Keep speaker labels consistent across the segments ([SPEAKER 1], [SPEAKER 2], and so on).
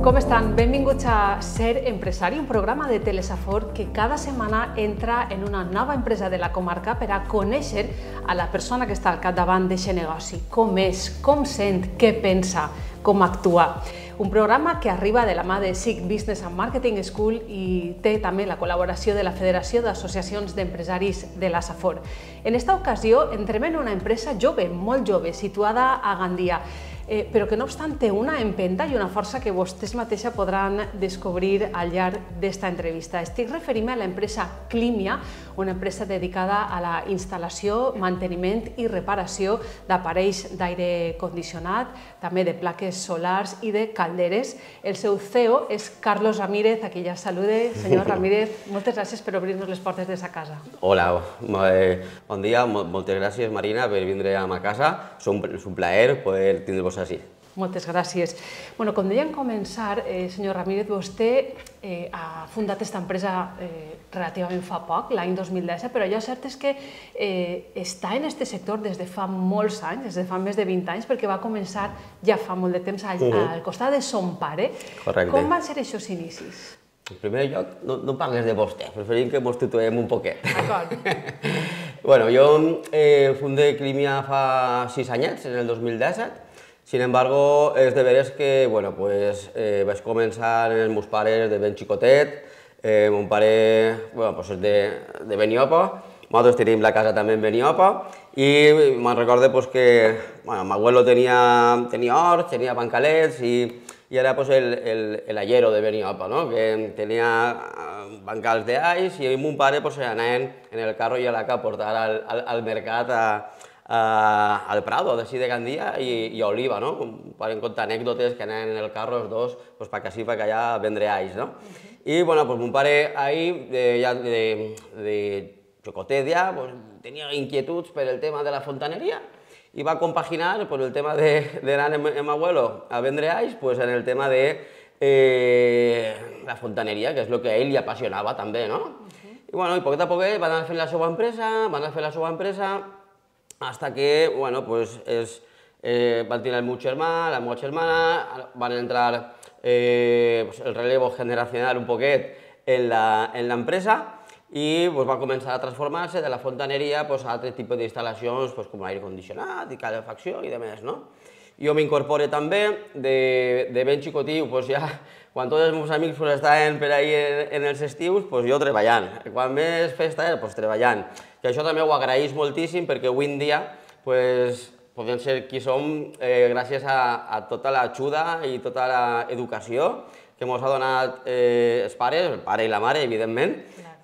[SPEAKER 1] Com estan? Benvinguts a Ser Empresari, un programa de Telesafor que cada setmana entra en una nova empresa de la comarca per a conèixer a la persona que està al capdavant d'aquest negoci. Com és, com sent, què pensa, com actua. Un programa que arriba de la mà de SIC Business and Marketing School i té també la col·laboració de la Federació d'Associacions d'Empresaris de la Safor. En esta ocasió entrem en una empresa jove, molt jove, situada a Gandia, però que no obstant té una empenta i una força que vostès mateixa podran descobrir al llarg d'esta entrevista. Estic referint-me a l'empresa Climia, una empresa dedicada a la instal·lació, manteniment i reparació d'aparells d'aire condicionat, també de plaques solars i de calderes. El seu CEO és Carlos Ramírez, a qui ja salude. Senyor Ramírez, moltes gràcies per obrir-nos les portes de sa casa.
[SPEAKER 2] Hola, bon dia, moltes gràcies Marina per vindre a ma casa. És un plaer poder tindre-vos així.
[SPEAKER 1] Moltes gràcies. Com deia en començar, senyor Ramírez, vostè ha fundat aquesta empresa relativament fa poc, l'any 2017, però allò cert és que està en aquest sector des de fa molts anys, des de fa més de 20 anys, perquè va començar ja fa molt de temps al costat de son pare.
[SPEAKER 2] Correcte.
[SPEAKER 1] Com van ser aquests inicis?
[SPEAKER 2] En primer lloc, no parles de vostè, preferim que ens tutuem un poquet.
[SPEAKER 1] D'acord.
[SPEAKER 2] Bueno, jo fundé Climia fa 6 anyets, en el 2017. Sin embargo, és de veres que vaig començar amb els meus pares de ben xicotet. Mon pare és de Beniopa, nosaltres tenim la casa també en Beniopa, i me'n recordo que m'abuelo tenia horts, tenia bancalets, i era el de Beniopa, que tenia bancals d'alls, i mon pare anaven en el carro i a la que a portar al mercat al Prado, d'ací de Gandia i a Oliva, no? Podem contar anècdotes que anaven en el carro els dos perquè així, perquè allà a vendre alls, no? I, mon pare ahí, de xocotet ja, tenia inquietuds per el tema de la fontaneria i va compaginar el tema d'anar amb abuelo a vendre alls en el tema de la fontaneria, que és el que a ell li apassionava també, no? I, a poquet a poquet van anar fent la seva empresa, hasta que, van tenir el meu germà, la meva germana, van entrar el relevo generacional un poquet en l'empresa i va començar a transformar-se de la fontaneria a altres tipus d'instal·lacions com l'aire condicionat i calefacció i demés, no? Jo m'incorporo també de ben xicotiu, quan tots els meus amics estaven per ahí en els estius, jo treballant. Quan més festa era, treballant. I això també ho agraeix moltíssim perquè avui en dia podem ser qui som gràcies a tota l'ajuda i tota l'educació que ens ha donat els pares, el pare i la mare, evidentment,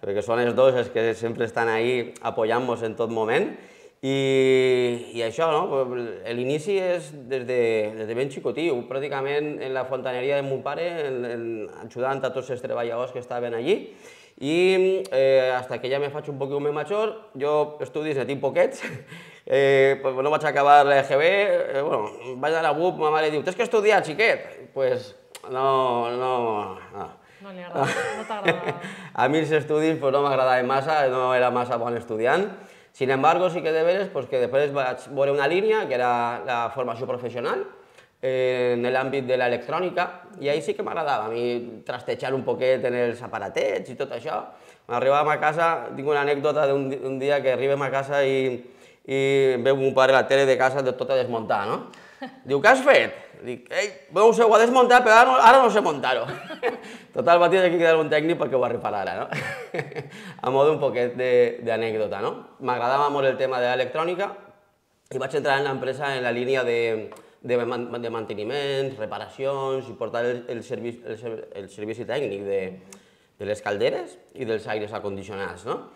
[SPEAKER 2] perquè són els dos els que sempre estan ahí apoyant-nos en tot moment. I això, l'inici és des de ben xicotiu, pràcticament en la fontaneria de mon pare, ajudant a tots els treballadors que estaven allí. I fins que ja me faig un poquet més major, jo estudis ne tinc poquets, no vaig acabar l'EGB, vaig anar a BUP, ma mare diu, tens que estudiar, xiquet? Doncs no...
[SPEAKER 1] No li agrada, no t'agrada.
[SPEAKER 2] A mi els estudis no m'agradaven massa, no era massa bon estudiant. Sin embargo, sí que de veres que després vaig veure una línia, que era la formació professional, en l'àmbit de l'electrònica, i ahí sí que m'agradava a mi trastejar un poquet en els aparatets i tot això. Arribàvem a casa, tinc una anècdota d'un dia que arribem a casa i veu mon pare la tele de casa tot a desmuntar, no? Diu, què has fet? Dic, no ho sé, ho ha desmuntat, però ara no sé muntar-ho. Total, va tenir que quedar un tècnic perquè ho reparara, no? A mode un poquet d'anècdota, no? M'agradava molt el tema de l'electrònica i vaig entrar en l'empresa en la línia de manteniment, reparacions i portar el servici tècnic de les calderes i dels aires acondicionats, no?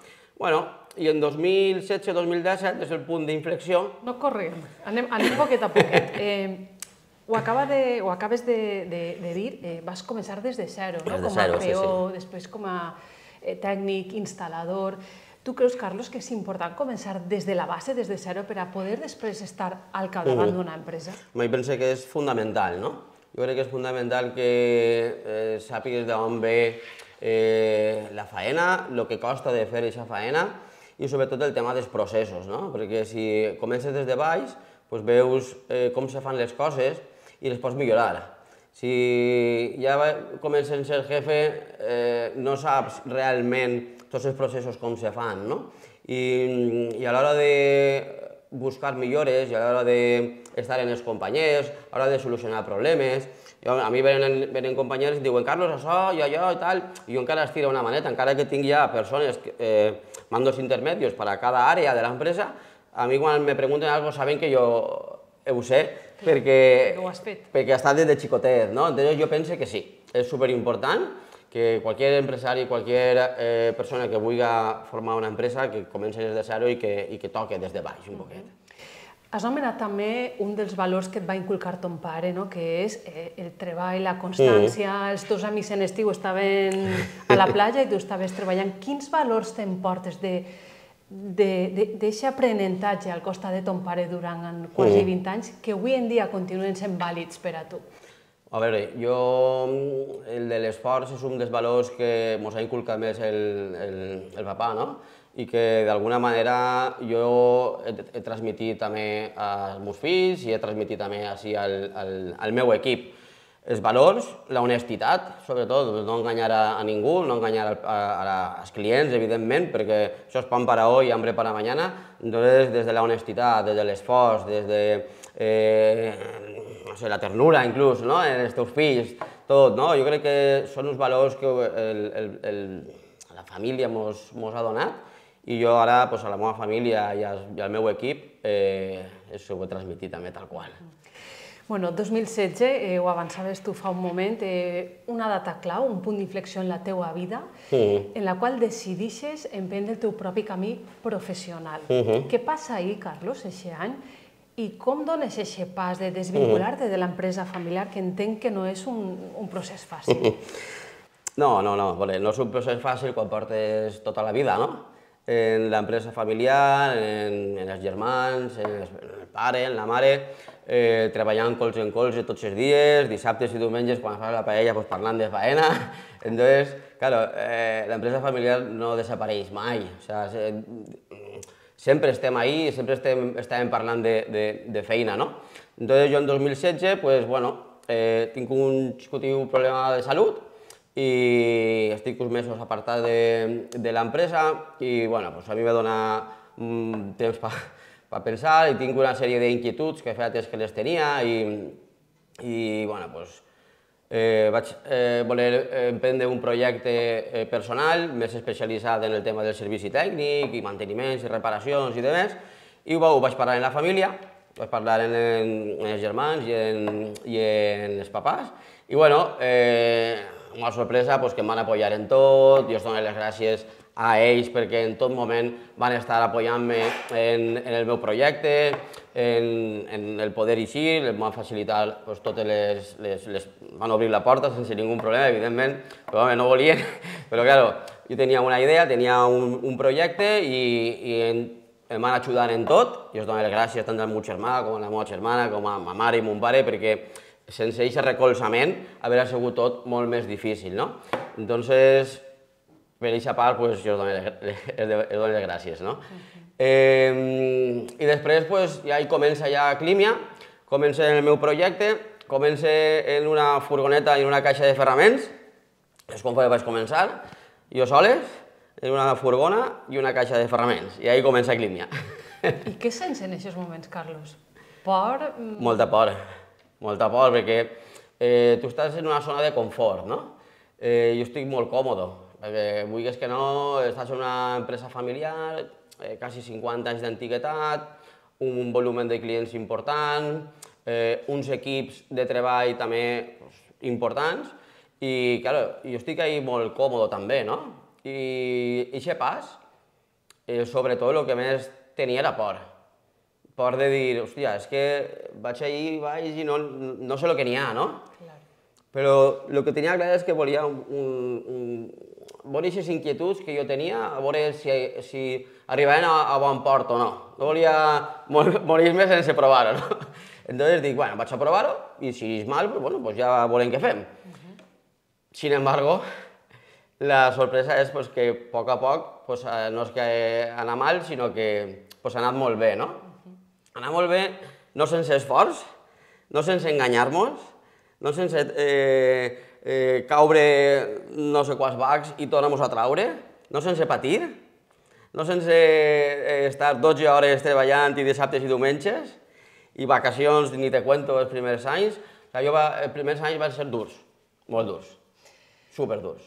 [SPEAKER 2] I en 2016-2017 és el punt d'inflexió.
[SPEAKER 1] No correm, anem poquet a poquet. Ho acabes de dir, vas començar des de zero, com a PO, després com a tècnic, instal·lador. Tu creus, Carlos, que és important començar des de la base, des de zero, per a poder després estar al capdavant d'una empresa?
[SPEAKER 2] Jo penso que és fundamental, no? Jo crec que és fundamental que sàpigues d'on ve la faena, el que costa de fer aquesta faena i sobretot el tema dels processos, no? Perquè si comences des de baix, veus com se fan les coses i les pots millorar. Si ja comences a ser jefe, no saps realment tots els processos com se fan, no? I a l'hora de buscar millores, i a l'hora d'estar en els companys, a l'hora de solucionar problemes, a mi venen companys i diuen Carlos, això i allò i tal, i jo encara estiro una maneta, encara que tinc ja persones, mandos intermedios per a cada àrea de l'empresa, a mi quan me pregunten alguna cosa saben que jo ho sé, perquè ha estat des de xicotet, no? Entonces jo penso que sí, és superimportant que qualsevol empresari, qualsevol persona que vulgui formar una empresa, que comenci des de zero i que toque des de baix un poquet.
[SPEAKER 1] Has anomenat també un dels valors que et va inculcar ton pare, que és el treball, la constància. Els teus amics en estiu estaven a la platja i tu estaves treballant. Quins valors t'emportes d'aquest aprenentatge al costat de ton pare durant quasi 20 anys que avui en dia continuen sent vàlids per a tu?
[SPEAKER 2] A veure, el de l'esforç és un dels valors que ens ha inculcat més el papà, no? I que d'alguna manera jo he transmitit també als meus fills i he transmitit també al meu equip. Els valors, la honestitat, sobretot, no enganyar a ningú, no enganyar als clients, evidentment, perquè això és pan para hoy y hambre para mañana. Entonces, des de la honestitat, des de l'esforç, des de la ternura, inclús, en els teus fills, tot, no? Jo crec que són uns valors que la família ens ha donat i jo ara a la meva família i al meu equip ho he transmitit també tal qual.
[SPEAKER 1] Bueno, 2016, ho avançaves tu fa un moment, una data clau, un punt d'inflexió en la teua vida, en la qual decidixes emprendre el teu propi camí professional. Què passa ahir, Carlos, aquest any? I com dones aquest pas de desvincular-te de l'empresa familiar, que entenc que no és un procés fàcil?
[SPEAKER 2] No, no és un procés fàcil quan portes tota la vida, no? En l'empresa familiar, en els germans, en el pare, en la mare, treballant colze en colze tots els dies, dissabtes i diumenges quan fas la paella parlant de faena. Entonces, claro, l'empresa familiar no desapareix mai. Sempre estem ahí, sempre estàvem parlant de feina, no? Entonces jo en 2016, tinc un xicotiu problema de salut i estic uns mesos apartat de l'empresa i a mi me dona temps per pensar i tinc una sèrie d'inquietuds que feia temps que les tenia i vaig voler emprendre un projecte personal més especialitzat en el tema del servici tècnic i manteniments i reparacions i demés i ho vaig parlar en la família, vaig parlar en els germans i en els papàs i una sorpresa que em van apoyar en tot, jo els dono les gràcies a ells perquè en tot moment van estar apoyant-me en el meu projecte, en el poder eixir, em van facilitar totes van obrir la porta sense ningú problema, evidentment, però no volien, però clar, jo tenia una idea, tenia un projecte i em van ajudar en tot, i els dono les gràcies tant al meu germà com a la meva germana, com a ma mare i mon pare, perquè sense aquest recolzament hauria sigut tot molt més difícil, no? Entonces, per aquesta part, jo els dono les gràcies, no? I després, ja hi comença ja Clímia, comença en el meu projecte, comença en una furgoneta i en una caixa de ferraments, és com vaig començar, jo soles, en una furgona i una caixa de ferraments, i ahí comença Clímia.
[SPEAKER 1] I què sents en aquests moments, Carlos? Por?
[SPEAKER 2] Molta por, perquè tu estàs en una zona de confort, no? Jo estic molt còmode, perquè vulguis que no, estàs en una empresa familiar, quasi 50 anys d'antiguitat, un volum de clients important, uns equips de treball també importants, i clar, jo estic ahí molt còmode també, no? I aquest pas, sobretot el que més tenia era por. Por de dir, hòstia, és que vaig allí i no sé el que n'hi ha, no? Però el que tenia clar és que volia veure aquestes inquietuds que jo tenia, a veure si arribaven a bon port o no. No volia morir-me sense provar-ho, no? Entonces dic, bueno, vaig a provar-ho i si és mal, pues ja veurem què fem. Sin embargo, la sorpresa és que a poc no és que ha anat mal, sinó que ha anat molt bé, no? Anar molt bé, no sense esforç, no sense enganyar-nos, no sense caure no sé quants bacs i tornar-nos a traure, no sense patir, no sense estar 12 hores treballant i dissabtes i diumenges, i vacacions, ni te cuento, els primers anys. Els primers anys van ser durs, molt durs, superdurs.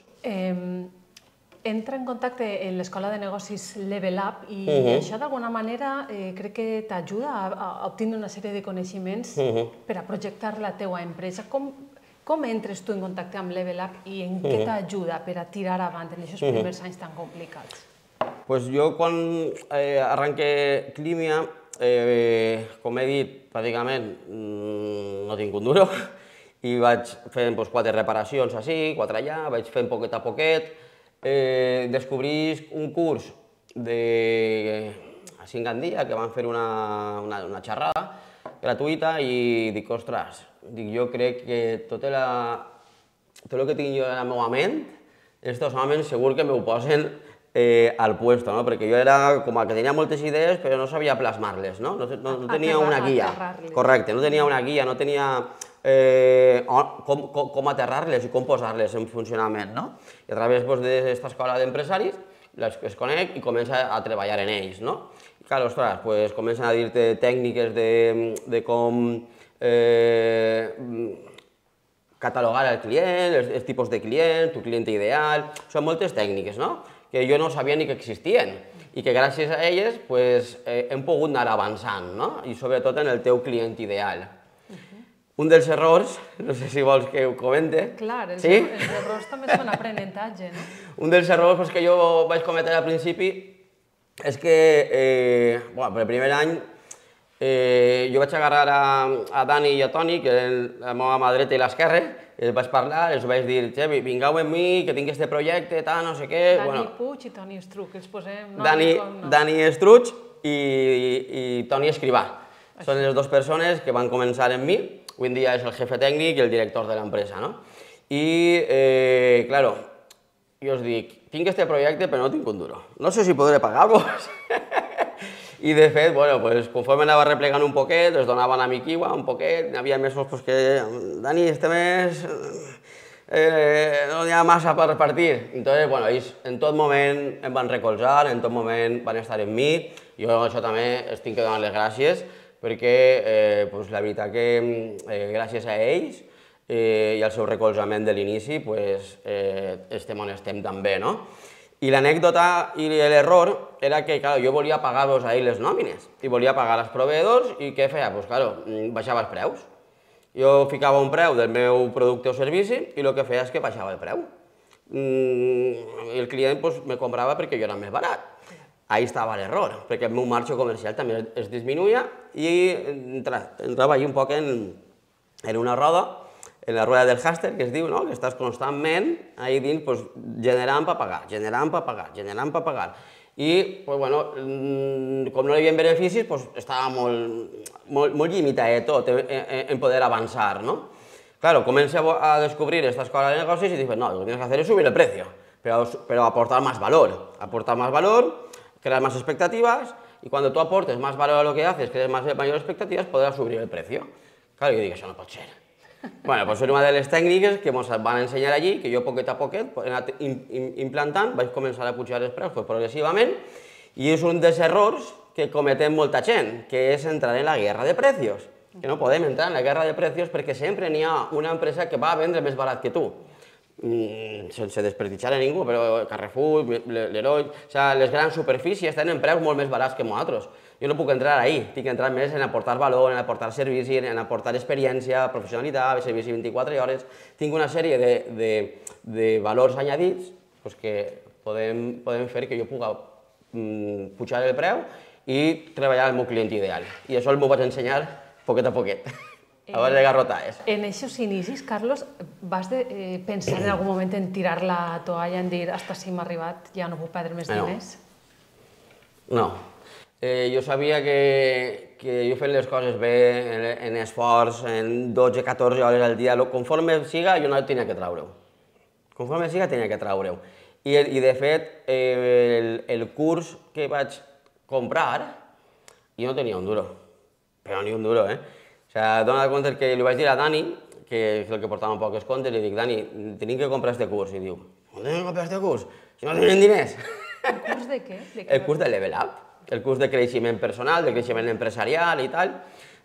[SPEAKER 1] Entra en contacte en l'Escola de Negocis Level Up i això d'alguna manera crec que t'ajuda a obtenir una sèrie de coneixements per a projectar la teua empresa. Com entres tu en contacte amb Level Up i en què t'ajuda per a tirar avant en aquests primers anys tan complicats?
[SPEAKER 2] Doncs jo quan arranque Climia, com he dit, pràcticament no tinc un duro i vaig fent 4 reparacions així, 4 allà, vaig fent poquet a poquet. Descobrisc un curs a Cingandia que van fer una xerrada gratuïta i dic, ostres, jo crec que tot el que tinc jo en la meva ment, estos homes segur que m'ho posen al puesto, perquè jo era com que tenia moltes idees però no sabia plasmar-les, no tenia una guia, correcte, no tenia una guia, no tenia com aterrar-les i com posar-les en funcionament, no? I a través d'aquesta escola d'empresaris les conec i començo a treballar en ells, no? I clar, ostres, comencen a dir-te tècniques de com catalogar el client, els tipus de client, tu client ideal, són moltes tècniques, no? Que jo no sabia ni que existien i que gràcies a elles hem pogut anar avançant, no? I sobretot en el teu client ideal. Un dels errors, no sé si vols que ho comente.
[SPEAKER 1] Clar, els errors també són aprenentatge, no?
[SPEAKER 2] Un dels errors que jo vaig cometre al principi és que, per el primer any, jo vaig agarrar a Dani i a Toni, que eren la meva mà dreta i l'esquerra, els vaig parlar, els vaig dir, vingueu amb mi, que tinc aquest projecte, tal, no sé què...
[SPEAKER 1] Dani Puig i Toni Estruc, els posem...
[SPEAKER 2] Dani Estruc i Toni Escrivà. Són les dues persones que van començar amb mi. Avui en dia és el jefe tècnic i el director de l'empresa, no? I, claro, jo us dic, tinc este projecte però no tinc un duro. No sé si podré pagar-vos. I de fet, conforme anava replegant un poquet, es donaven a mi quiua un poquet, hi havia mesos que, Dani, este mes no hi ha massa per repartir. Entonces, ells en tot moment em van recolzar, en tot moment van estar amb mi, jo això també els tinc que donar les gràcies, perquè la veritat que gràcies a ells i al seu recolzament de l'inici estem on estem també, no? I l'anècdota i l'error era que jo volia pagar-vos a ells les nòmines i volia pagar als proveïdors i què feia? Baixava els preus. Jo ficava un preu del meu producte o servici i el que feia és que baixava el preu. I el client me comprava perquè jo era més barat. Ahí estava l'error, perquè el meu marge comercial també es disminuïa i entrava allà un poc en una roda, en la rueda del hàster, que es diu, que estàs constantment ahí dins generant per pagar, generant per pagar, generant per pagar. I, com no hi havia beneficis, estava molt limitat tot en poder avançar, no? Claro, comencé a descubrir esta escuela de negocios y dije, no, lo que tienes que hacer es subir el precio, pero aportar más valor, crear más expectativas, y cuando tú aportes más valor a lo que haces, crees mayores expectativas, podrás subir el precio. Claro, yo digo, això no pot ser. Bueno, pues és una de les tècniques que ens van ensenyar allí, que jo poquet a poquet he anat implantant, vaig començar a pujar els preus progressivament, i és un dels errors que cometem molta gent, que és entrar en la guerra de precios. Que no podem entrar en la guerra de precios perquè sempre n'hi ha una empresa que va a vendre més barat que tu. Sense desprestigiar a ningú, però Carrefour, Leroy, les grans superfícies tenen preus molt més barats que nosaltres. Jo no puc entrar ahí, tinc que entrar més en aportar valor, en aportar servici, en aportar experiència, professionalitat, servici 24 hores. Tinc una sèrie de valors añadits que poden fer que jo pugui pujar el preu i treballar el meu client ideal. I això m'ho vaig ensenyar poquet a poquet. A base de garrotades.
[SPEAKER 1] En aquests inicis, Carlos, vas pensar en algun moment en tirar la toalla, en dir, hasta si m'ha arribat, ja no puc perdre més diners?
[SPEAKER 2] No. Jo sabia que jo fent les coses bé, en esforç, en 12-14 hores al dia, conforme siga, jo no tenia que treure-ho. Conforme siga, tenia que treure-ho. I, de fet, el curs que vaig comprar, jo no tenia un duro. Però ni un duro, O sigui, dona compte que li vaig dir a Dani que és el que portava un poc els comptes, li dic, Dani, tenim que comprar este curs. I diu, on tenim que comprar este curs? Si no tenim diners.
[SPEAKER 1] El curs de què?
[SPEAKER 2] El curs de Level Up, el curs de creixement personal, de creixement empresarial i tal.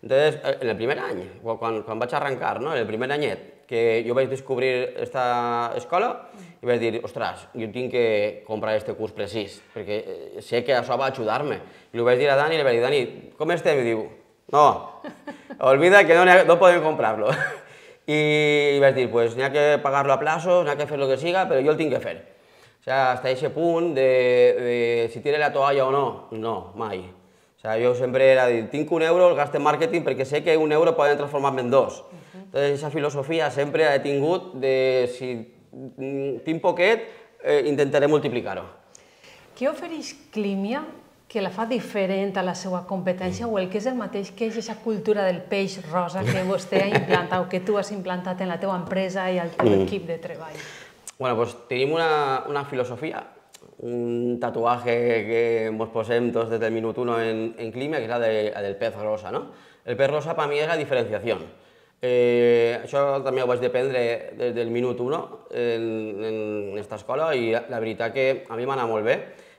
[SPEAKER 2] Entonces, en el primer any, quan vaig arrencar, en el primer anyet, que jo vaig descobrir aquesta escola i vaig dir, ostres, jo tinc que comprar aquest curs precís, perquè sé que això va ajudar-me. I li vaig dir a Dani, i li vaig dir, Dani, com estem? I diu, no, olvida que no podem comprar-lo. I vaig dir, pues n'hi ha que pagar-lo a plazos, n'hi ha que fer el que siga, però jo el tinc que fer. O sigui, hasta aquest punt de si tire la toalla o no, no, mai. O sigui, jo sempre era dir, tinc €1, el gasto en màrqueting perquè sé que €1 poden transformar-me en 2. Entonces, aquesta filosofia sempre he tingut de si tinc poquet, intentaré multiplicar-ho.
[SPEAKER 1] Què ofereix Clímia que la fa diferent a la seva competència o el que és el mateix que és aquesta cultura del peix rosa que vostè ha implantat o que tu has implantat en la teva empresa i al teu equip de treball?
[SPEAKER 2] Bueno, pues tenim una filosofia, un tatuaje que ens posem tots des del minut 1 en Clímia, que és la del pez rosa, no? El pez rosa per mi és la diferenciació. Això també ho vaig aprendre des del minut 1 en aquesta escola i la veritat que a mi m'ha anat molt bé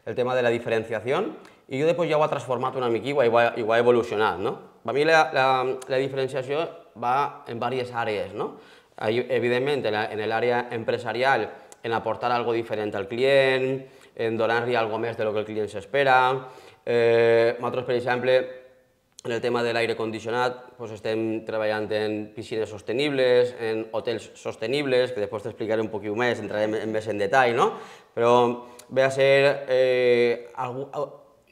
[SPEAKER 2] el tema de la diferenciació i jo després ja ho he transformat una mica i ho he evolucionat. Per mi la diferenciació va en diverses àrees. Evidentment, en l'àrea empresarial, en aportar algo diferent al client, en donar-li algo més de lo que el client s'espera. Nosaltres, per exemple, en el tema de l'aire condicionat estem treballant en piscines sostenibles, en hotels sostenibles, que després t'explicaré un poquet més, entrarem més en detall, però ve a ser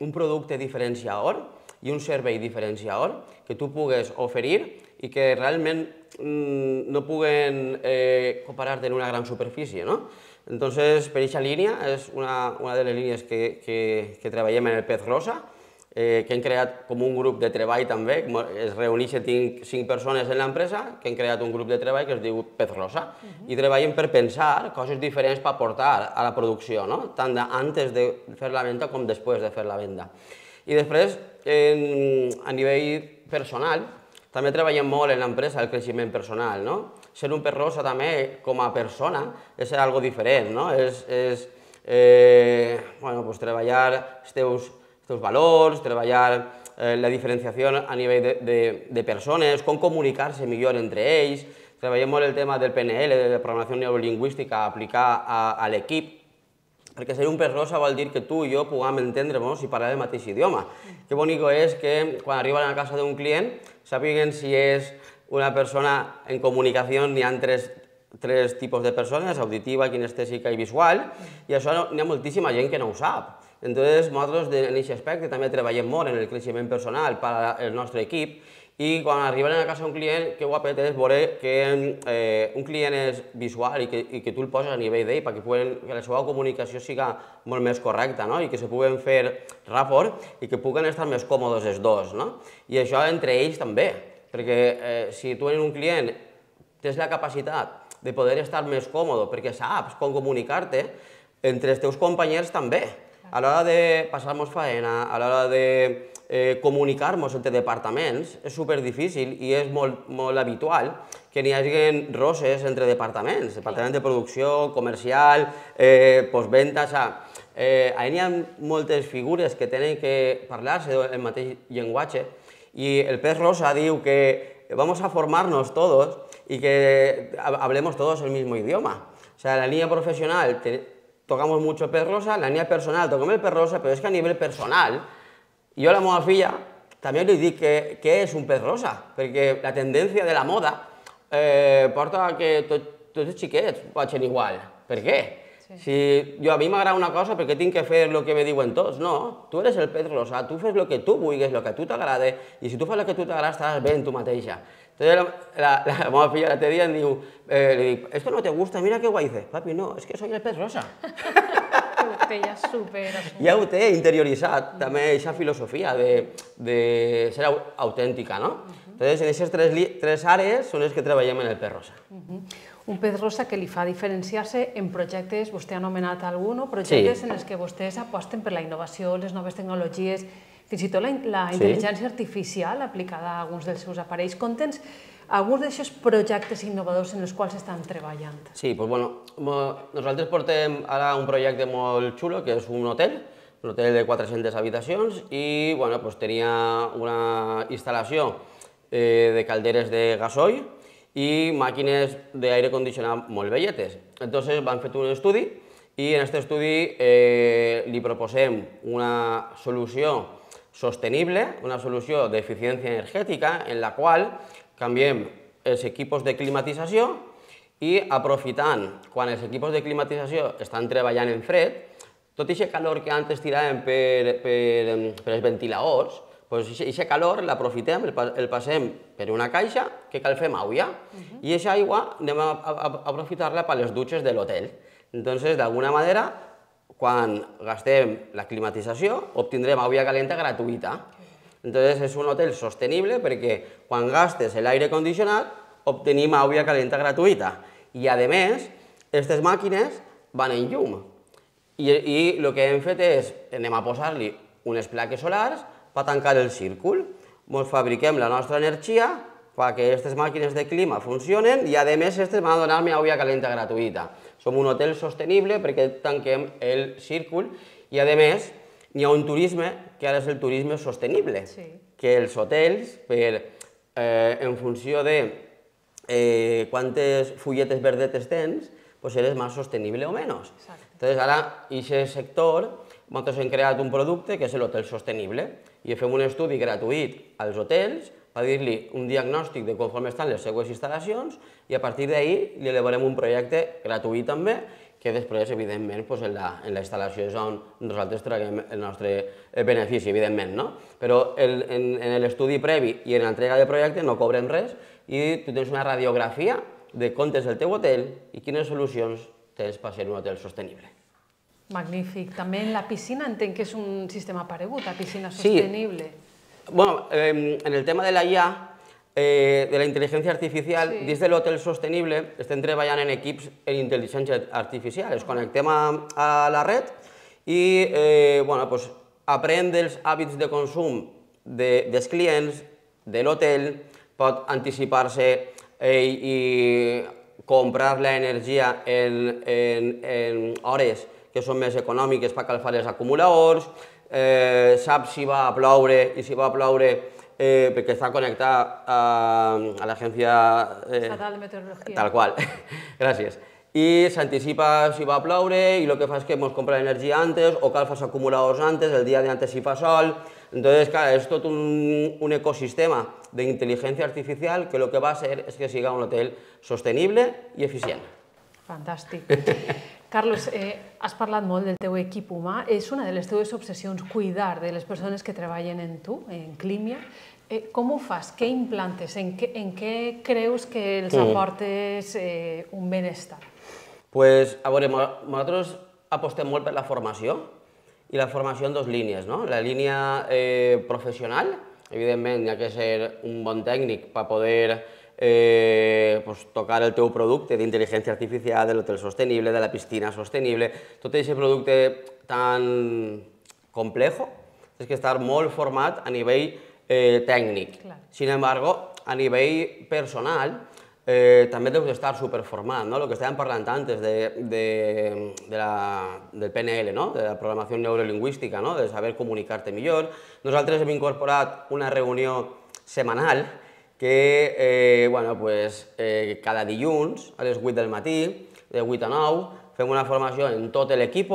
[SPEAKER 2] un producte diferenciador i un servei diferenciador que tu pugues oferir i que realment no puguen comparar-te en una gran superfície. Entonces, per aquesta línia, és una de les línies que treballem en el pez rosa, que hem creat com un grup de treball també, es reuneixen 5 persones en l'empresa que han creat un grup de treball que es diu Pez Rosa i treballem per pensar coses diferents per aportar a la producció, tant antes de fer la venda com després de fer la venda. I després, a nivell personal, també treballem molt en l'empresa el creixement personal. Ser un pez rosa també com a persona és ser algo diferent, és treballar els teus valors, treballar la diferenciació a nivell de persones, com comunicar-se millor entre ells. Treballem molt el tema del PNL, de la programació neurolingüística, aplicar a l'equip, perquè ser un pez rosa vol dir que tu i jo puguem entendre-nos i parlar el mateix idioma. Que bonic és que quan arriben a la casa d'un client sàpiguen si és una persona en comunicació, n'hi ha tres tipus de persones, auditiva, kinestèsica i visual, i això n'hi ha moltíssima gent que no ho sap. Entonces, nosaltres en aquest aspecte també treballem molt en el creixement personal per al nostre equip i quan arriben a casa un client, que guapet és veure que un client és visual i que tu el poses a nivell d'ell perquè la seva comunicació siga molt més correcta i que se puguen fer rapport i que puguen estar més còmodes els dos. I això entre ells també, perquè si tu en un client tens la capacitat de poder estar més còmode perquè saps com comunicar-te, entre els teus companys també. A l'hora de passar-nos faena, a l'hora de comunicar-nos entre departaments, és superdifícil i és molt habitual que n'hi hagi roses entre departaments, departament de producció, comercial, postventa, allà n'hi ha moltes figures que tenen que parlar-se el mateix llenguatge y el pez rosa diu que vamos a formarnos todos y que hablemos todos el mismo idioma. O sea, en la línea profesional tocamos mucho el pez rosa, en la línea personal tocamos el pez rosa, pero es que a nivel personal, jo a la meva filla també li dic què és un pez rosa, perquè la tendència de la moda porta a que tots els xiquets vagin igual. Per què? Si a mi m'agrada una cosa, per què tinc que fer el que me diuen tots? No, tu eres el pez rosa, tu fes el que tu vulguis, el que a tu t'agrada, i si tu fas el que a tu t'agrada estaràs bé en tu mateixa. Entonces la meva filla l'altre dia em diu, li dic, ¿esto no te gusta? Mira qué guay. Dice, papi, no, es que soy el pez rosa. Ja ho té interioritzat, també aquesta filosofia de ser autèntica. Entonces, en aquestes tres àrees són les que treballem en el pez rosa.
[SPEAKER 1] Un pez rosa que li fa diferenciar-se en projectes, vostè ha anomenat algun, projectes en els que vostès aposten per la innovació, les noves tecnologies, fins i tot la intel·ligència artificial aplicada a alguns dels seus aparells. Conta'ns alguns d'aquests projectes innovadors en els quals estan treballant.
[SPEAKER 2] Sí, doncs bueno, nosaltres portem ara un projecte molt xulo, que és un hotel de 400 habitacions i bueno, doncs tenia una instal·lació de calderes de gasoil i màquines d'aire condicionat molt velletes. Entonces van fet un estudi i en aquest estudi li proposem una solució sostenible, una solució d'eficiència energètica en la qual canviem els equipos de climatització i aprofitant, quan els equipos de climatització estan treballant en fred, tot aquest calor que antes tiràvem per els ventiladors, aquest calor l'aprofitem, el passem per una caixa que cal fer aigua i aquesta aigua anem a aprofitar-la per les dutxes de l'hotel. Entonces, d'alguna manera, quan gastem la climatització, obtindrem aigua calenta gratuïta. Entonces, és un hotel sostenible perquè quan gastes l'aire condicionat, obtenim aigua calenta gratuïta. I, a més, aquestes màquines van en llum. I el que hem fet és, anem a posar-li unes plaques solars per tancar el círcul. Ens fabriquem la nostra energia perquè aquestes màquines de clima funcionen i, a més, aquestes van a donar-me aigua calenta gratuïta. Som un hotel sostenible perquè tanquem el círcul i, a més, hi ha un turisme que ara és el turisme sostenible, que els hotels, en funció de quantes fulletes verdetes tens, eres més sostenible o menys. Entonces, ara, en aquest sector, nosaltres hem creat un producte que és l'hotel sostenible i fem un estudi gratuït als hotels per dir-li un diagnòstic de conforme estan les seues instal·lacions i a partir d'ahir li elaborem un projecte gratuït també que després, evidentment, en la instal·lació és on nosaltres traguem el nostre benefici, evidentment, no? Però en l'estudi previ i en l'entrega de projecte no cobrem res i tu tens una radiografia de com és el teu hotel i quines solucions tens per ser un hotel sostenible.
[SPEAKER 1] Magnífic. També en la piscina entenc que és un sistema paregut, la piscina sostenible.
[SPEAKER 2] Bueno, en el tema de la IA, de la intel·ligència artificial, dins de l'hotel sostenible estem treballant en equips en intel·ligència artificial. Es connectem a la red i aprèn dels hàbits de consum dels clients, de l'hotel, pot anticipar-se i comprar l'energia en hores que són més econòmiques per calfar els acumuladors, sap si va a ploure i si va a ploure perquè està connectat a l'agència
[SPEAKER 1] estatal de meteorologia.
[SPEAKER 2] Tal qual, gràcies. I s'anticipa si va a ploure i el que fa és que ens compra l'energia antes o calfa els acumuladors antes, el dia d'antes si fa sol. Entonces, clar, és tot un ecosistema d'intel·ligència artificial que el que va a ser és que siga un hotel sostenible i eficient.
[SPEAKER 1] Fantàstic. Carlos, has parlat molt del teu equip humà. És una de les teves obsessions cuidar de les persones que treballen en tu, en Climia. Com ho fas? Què implantes? En què creus que els aportes un benestar?
[SPEAKER 2] Pues, a veure, nosaltres apostem molt per la formació i la formació en dues línies, no? La línia professional, evidentment, hi ha que ser un bon tècnic per poder tocar el teu producte d'intel·ligència artificial, de l'hotel sostenible, de la piscina sostenible, tot aquest producte tan complejo, és que estar molt format a nivell tècnic. Sin embargo, a nivell personal, també deus d'estar superformat, el que estàvem parlant antes del PNL, de la programació neurolingüística, de saber comunicar-te millor. Nosaltres hem incorporat una reunió setmanal que cada dilluns a les 8 del matí, de 8 a 9, fem una formació en tot l'equip,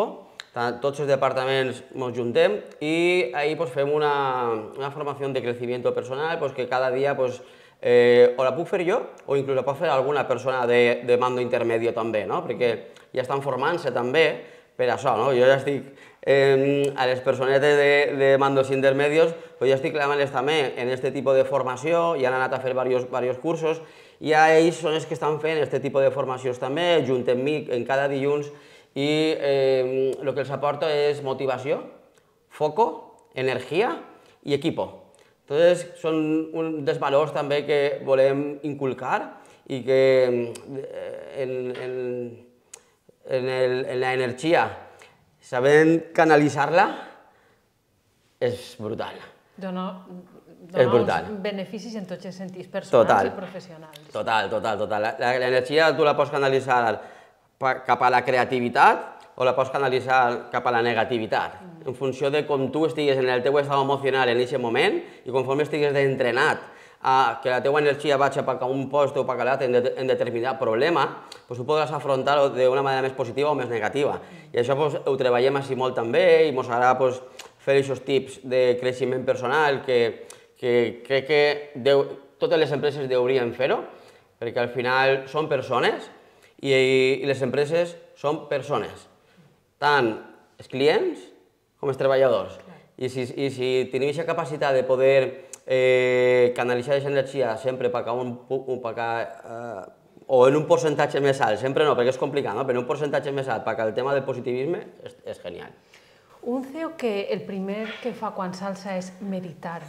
[SPEAKER 2] tots els departaments ens juntem i ahí fem una formació de creciment personal que cada dia o la puc fer jo o inclús la pot fer alguna persona de mando intermedio també, perquè ja estan formant-se també per això. Jo ja estic a les personetes de mandos intermedios, ja estic clavant-les també en aquest tipus de formació i han anat a fer diversos cursos i ells són els que estan fent aquest tipus de formacions també, junt amb mi en cada dilluns i el que els aporta és motivació, foco, energia i equipo. Entonces, són un dels valors també que volem inculcar i que en l'energia, sabent canalitzar-la, és brutal.
[SPEAKER 1] Dona
[SPEAKER 2] brutal.
[SPEAKER 1] uns beneficis en tots els sentits, personals i professionals.
[SPEAKER 2] Total. L'energia tu la pots canalitzar cap a la creativitat o la pots canalitzar cap a la negativitat, en funció de com tu estigues en el teu estat emocional en aquest moment i conforme estigues entrenat a que la teua energia vagi cap a un lloc o cap a l'altre en determinat problema, doncs tu podràs afrontar-ho d'una manera més positiva o més negativa. I això ho treballem així molt també i ens agrada fer aquests tips de creixement personal que crec que totes les empreses deurien fer-ho, perquè al final són persones i les empreses són persones, tant els clients com els treballadors. I si tenim aquesta capacitat de poder canalitzar aquesta energia sempre o en un percentatge més alt, sempre no, perquè és complicat, però en un percentatge més alt perquè el tema del positivisme és genial.
[SPEAKER 1] Un CEO que el primer que fa quan s'alça és meditar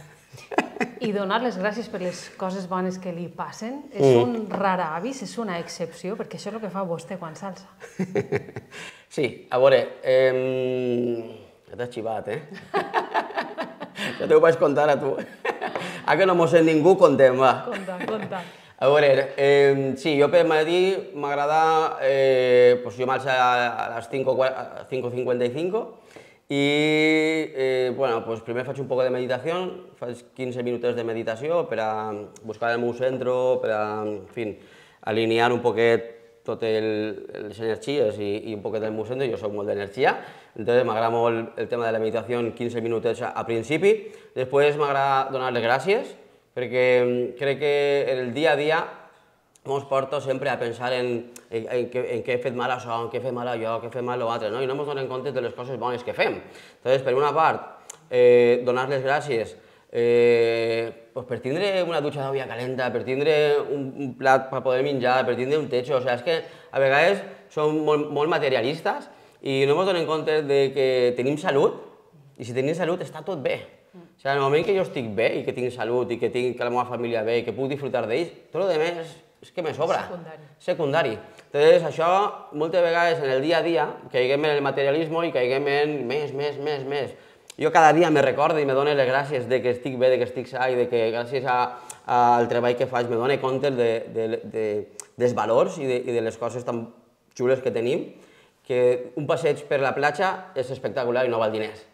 [SPEAKER 1] i donar les gràcies per les coses bones que li passen. És un rar avis, és una excepció, perquè això és el que fa vostè quan s'alça.
[SPEAKER 2] Sí, a veure, ja t'has xivat, Ja t'ho vaig contar a tu. Que no m'ho sent ningú, contem, va.
[SPEAKER 1] Conta.
[SPEAKER 2] A veure, sí, jo per matí m'agrada, jo m'alço a les 5:55 i, primer faig un poc de meditació, faig 15 minuts de meditació per a buscar el meu centre, per a, en fi, alinear un poquet totes les energies i un poquet del meu centre, jo soc molt d'energia, entonces m'agrada molt el tema de la meditació, 15 minuts a principi, després m'agrada donar les gràcies, perquè crec que en el dia a dia ens porto sempre a pensar en què he fet mal això, en què he fet mal allò, què he fet mal l'altre, i no ens donem compte de les coses bones que fem. Entonces, per una part, donar les gràcies per tindre una dutxa d'aigua calenta, per tindre un plat per poder menjar, per tindre un techo, o sigui, és que a vegades som molt materialistes i no ens donem compte que tenim salut i si tenim salut està tot bé. O sigui, en el moment que jo estic bé i que tinc salut i que tinc la meva família bé i que puc disfrutar d'ells, tot el més és que me sobra. Secundari. Entonces, això, moltes vegades en el dia a dia, caiguem en el materialisme i caiguem en més. Jo cada dia me recordo i me dono les gràcies de que estic bé, de que estic sa i de que gràcies al treball que faig me dono compte dels valors i de les coses tan xules que tenim, que un passeig per la platja és espectacular i no val diners.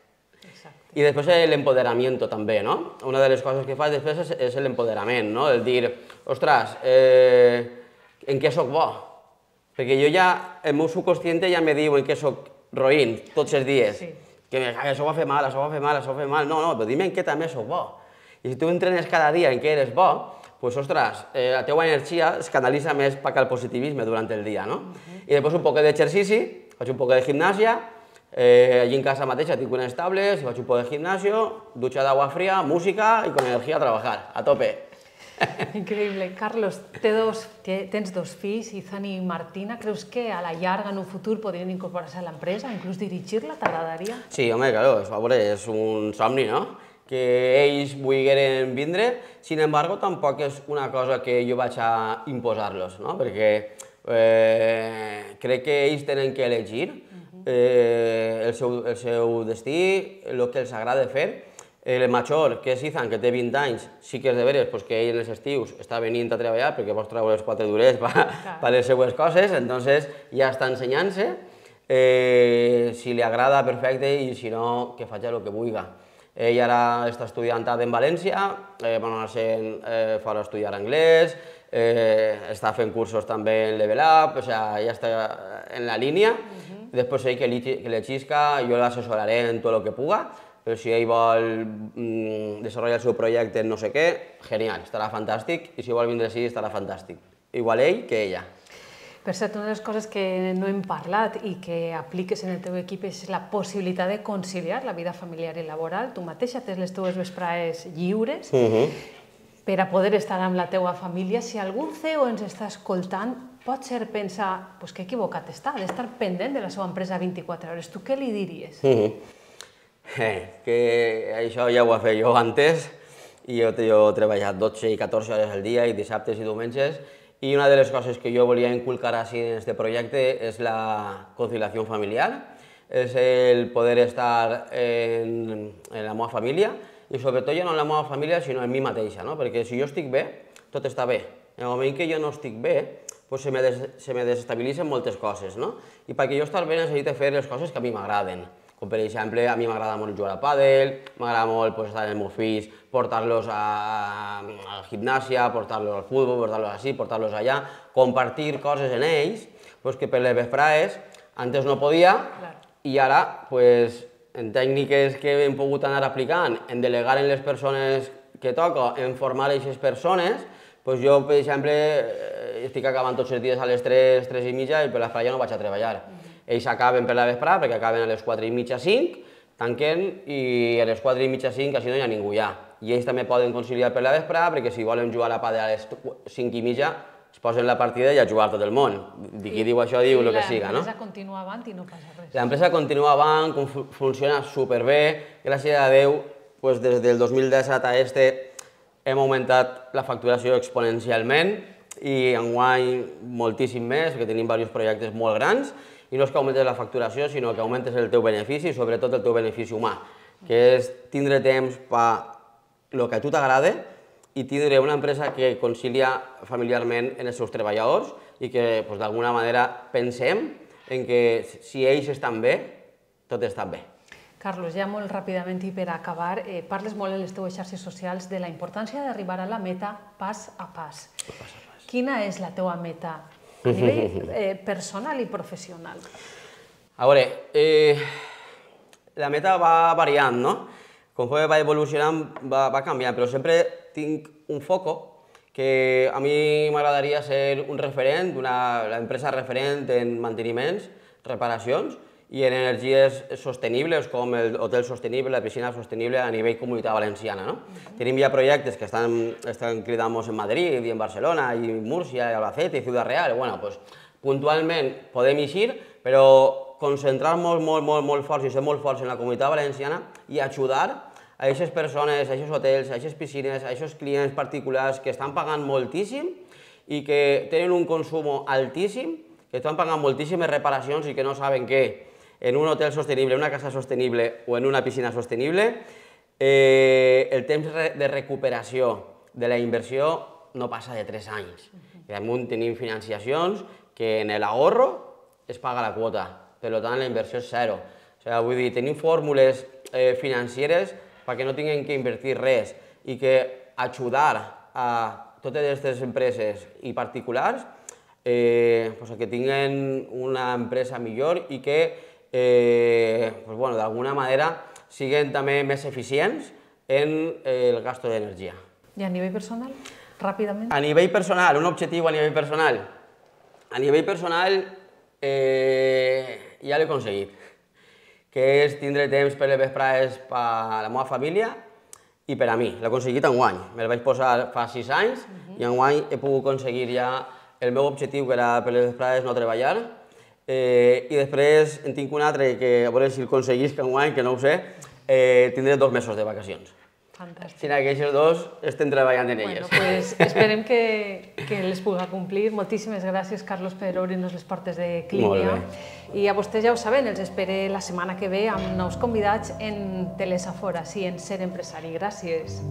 [SPEAKER 2] I després l'empoderament també, no? Una de les coses que faig després és l'empoderament, no? El dir, ostres, en què soc bo? Perquè jo ja, el meu subconscient ja me diu en què soc roïn tots els dies. Que això ho va fer mal, això ho va fer mal, això ho va fer mal. No, però dime en què també soc bo. I si tu entrenes cada dia en què eres bo, doncs, ostres, la teua energia es canalitza més cap al positivisme durant el dia, no? I després un poc d'exercici, faig un poc de gimnàsia, allí en casa mateixa tinc unes tables, faig un poc de gimnasio, dutxa d'aigua fría, música y con energía a trabajar, a tope.
[SPEAKER 1] Increïble. Carlos, tens dos fills, Izan i Martina. Creus que a la llarga, en un futur, podrien incorporar-se a l'empresa, inclús dirigir-la? T'agradaria?
[SPEAKER 2] Sí, home, claro, és un somni, no? Que ells vulgueren vindre, sin embargo, tampoc és una cosa que jo vaig a imposar-los, no? Perquè crec que ells tenen que elegir el seu destí, el que els agrada fer. El major, que és Izan, que té 20 anys, sí que és de veres que ell en els estius està venint a treballar perquè vols treure els quatre durets per les seues coses, entonces ja està ensenyant-se. Si li agrada, perfecte, i si no, que faci el que vulgui. Ell ara està estudiant en València, va anar-se'n fora a estudiar anglès, està fent cursos també en Level Up, o sigui, ja està en la línia. Després ell que l'exisca, jo l'assessoraré en tot el que puga, però si ell vol desenvolupar el seu projecte en no sé què, genial, estarà fantàstic, i si vol vindre així estarà fantàstic. Igual ell que ella.
[SPEAKER 1] Per cert, una de les coses que no hem parlat i que apliques en el teu equip és la possibilitat de conciliar la vida familiar i laboral. Tu mateixa tens les teves vesprades lliures per a poder estar amb la teua família. Si algun CEO ens està escoltant, pot ser pensar que equivocat està, d'estar pendent de la seva empresa 24 hores. Tu què li diries?
[SPEAKER 2] Que això ja ho he fet jo antes i jo he treballat 12 i 14 hores al dia i dissabtes i diumenges i una de les coses que jo volia inculcar així en aquest projecte és la conciliació familiar, és el poder estar en la meva família i sobretot ja no en la meva família, sinó en mi mateixa, no? Perquè si jo estic bé, tot està bé. En el moment que jo no estic bé, pues se me desestabilitzen moltes coses, no? I perquè jo estar bé necessito fer les coses que a mi m'agraden. Com per exemple, a mi m'agrada molt jugar a pàdel, m'agrada molt pues, estar amb els meus fills, portar-los a la gimnàsia, portar-los al futbol, portar-los així, portar-los allà, compartir coses en ells, pues, que per les vesprades antes no podia, i ara, pues, en tècniques que hem pogut anar aplicant, en delegar en les persones que toca, en formar aquestes persones, pues jo, per exemple, estic acabant tots els dies a les 3, 3 i mitja, i per la ja no vaig a treballar. Ells acaben per la vesprada, perquè acaben a les 4 i mitja, 5, tanquen, i a les 4 i mitja, 5, així no hi ha ningú ja. I ells també poden conciliar per la vesprada, perquè si volen jugar a pàdel a les 5 i mitja, es posen la partida i a jugar tot el món. Qui diu això diu el que siga, no?
[SPEAKER 1] L'empresa continua avant i no passa res.
[SPEAKER 2] L'empresa continua avant, funciona superbé, gràcies a Déu, des del 2017 a hem augmentat la facturació exponencialment i enguany moltíssim més, perquè tenim diversos projectes molt grans, i no és que augmentes la facturació, sinó que augmentes el teu benefici, sobretot el teu benefici humà, que és tindre temps per el que a tu t'agrada i tindre una empresa que concilia familiarment en els seus treballadors i que d'alguna manera pensem en que si ells estan bé, tot està bé.
[SPEAKER 1] Carlos, ja molt ràpidament i per acabar, parles molt en les teues xarxes socials de la importància d'arribar a la meta pas a pas. Quina és la teua meta a nivell personal i professional?
[SPEAKER 2] A veure, la meta va variant, no? Conforme va evolucionant, va canviant, però sempre tinc un foco que a mi m'agradaria ser un referent, l'empresa referent en manteniments, reparacions i en energies sostenibles com l'hotel sostenible, la piscina sostenible a nivell comunitat valenciana. Tenim ja projectes que estan cridant-nos en Madrid, i en Barcelona, i Múrcia, i Albacete, i Ciutat Real. Bueno, puntualment podem eixir, però concentrar-nos molt forts i ser molt forts en la comunitat valenciana i ajudar a aquestes persones, a aquests hotels, a aquestes piscines, a aquests clients particulars que estan pagant moltíssim i que tenen un consum altíssim, que estan pagant moltíssimes reparacions i que no saben que en un hotel sostenible, en una casa sostenible o en una piscina sostenible, el temps de recuperació de la inversió no passa de 3 anys. I damunt tenim financiacions que en l'ahorro es paga la quota, per tant la inversió és zero. Vull dir, tenim fórmules financeres perquè no tinguin que invertir res i que ajudar a totes aquestes empreses i particulars que tinguin una empresa millor i que d'alguna manera siguin també més eficients en el gasto d'energia.
[SPEAKER 1] I a nivell personal, ràpidament?
[SPEAKER 2] A nivell personal, un objectiu a nivell personal. A nivell personal ja l'he aconseguit, que és tindre temps per les vesprades per a la meva família i per a mi. L'he aconseguit enguany. Me'l vaig posar fa 6 anys i enguany he pogut aconseguir ja el meu objectiu, que era per les vesprades no treballar, i després en tinc un altre que a veure si el aconseguisc enguany, que no ho sé, tindré 2 mesos de vacacions.
[SPEAKER 1] Fantàstic.
[SPEAKER 2] Sinó que aquests 2 estem treballant en elles.
[SPEAKER 1] Esperem que les pugui complir. Moltíssimes gràcies, Carlos, per obrir-nos les portes de Clínia. I a vostès ja ho saben, els espere la setmana que ve amb nous convidats en Telesafora, sí, en Ser Empresari. Gràcies.